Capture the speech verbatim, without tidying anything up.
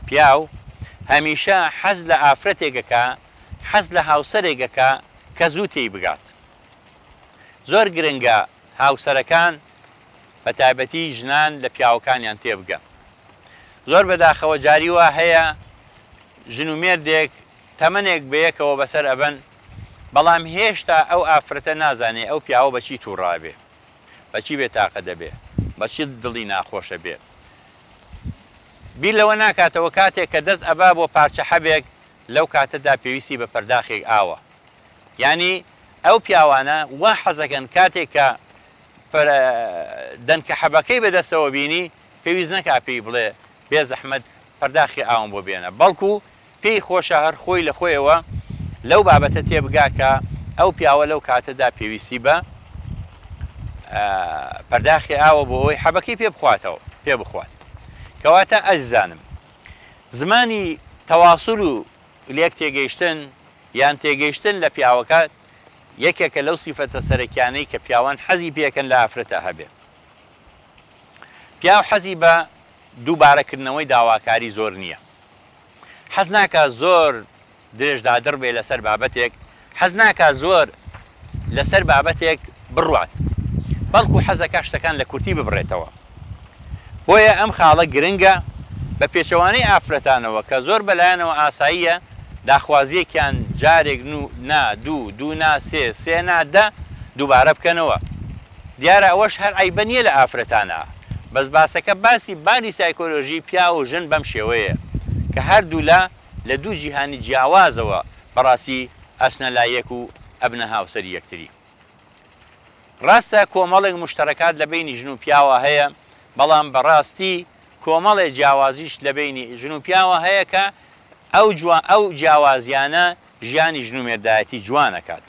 پیاو هەمیشە حەز لە ئافرەتێکەکە، حەز لە هاوسەرێکەکە کە زوو تێی بگات. زۆر گرنگە هاوسەرەکان بە تایبەتی ژنان لە پیاوەکانیان تێبگەن. زۆر بەداخەوە جاری وا هەیە ژن و مێردێک تەمەنێک بەیەکەوە بەسەر ئەبەن، بەڵام هێشتا ئەو ئافرەتە نازانێ ئەو پیاوە بەچی تووڕابێ، بەچی بێتاقە دەبێ، بەچی دڵی ناخۆشە بێ. بیر لەوە ناکاتەوە کاتێک کە دەست ئەبا بۆ پارچە حەبێک لەو کاتەدا پێویستی بە پەرداخێک ئاوە. یعنی ئەو پیاوانە وا حەزەکەن کاتێک کە دەنکە حەبەکەی بەدەستەوە بینی پێویست نەکا پێی بڵێ بێ زەحمەت پەرداخی ئاوم بۆ بێنە، بەڵکو پێی خۆشە هەر خۆی لە خۆیەوە لەو بابەتە تێبگا کە ئەو پیاوە لەو کاتەدا پێویستی بە پەرداخی ئاوە بۆ ئەوەی حەبەکەی پێ بخواتەوە پێ بخوات. کەواتە ئەزیزانم زمانی تەواصل و لێک تێگەیشتن یان تێگەیشتن لە پیاوەکە یەکێکە لەو سیفەتە سەرەکیانەی کە پیاوان حەزی پێکەن لە ئافرەتە هەبێ. پیاو حەزی بە دووبارەکردنەوەی داواکاری زۆر نییە، حەز ناکا زۆر درێژدادڕ بێ لەسەر بابەتێک، حەز ناکا زۆر لەسەر بابەتێک بڕوات، بەڵکو حەزەکە شتەکان لە کورتی ببڕێتەوە. بۆیە ئەم خاڵە گرنگە بە پێچەوانەی ئافرەتانەوە کە زۆر بەلایەنەوە ئاساییە داخوازیەکیان جارێک نا دوو دوو نا سێ سێ نا دە دووبارە بکەنەوە. دیارە ئەوەش هەر عەیبە نییە لە ئافرەتانە، بەس باسەکە باسی باری سایکۆلۆژی پیاو و ژن بەم شێوەیە کە هەردوولا لە دوو جیهانی جیاوازەوە بەڕاستی ئەچنە لای یەک و ئەبنە هاوسەری یەکتری. ڕاستە کۆمەڵێک مشتەرەکات لە بینی ژن و پیاوە هەیە، بەڵام بەڕاستی کۆمەڵێ جیاوازیش لە بینی ژن و پیاوە هەیە کە ئەو ئەو جیاوازیانە ژیانی ژن و مێردایەتی جوانەکات.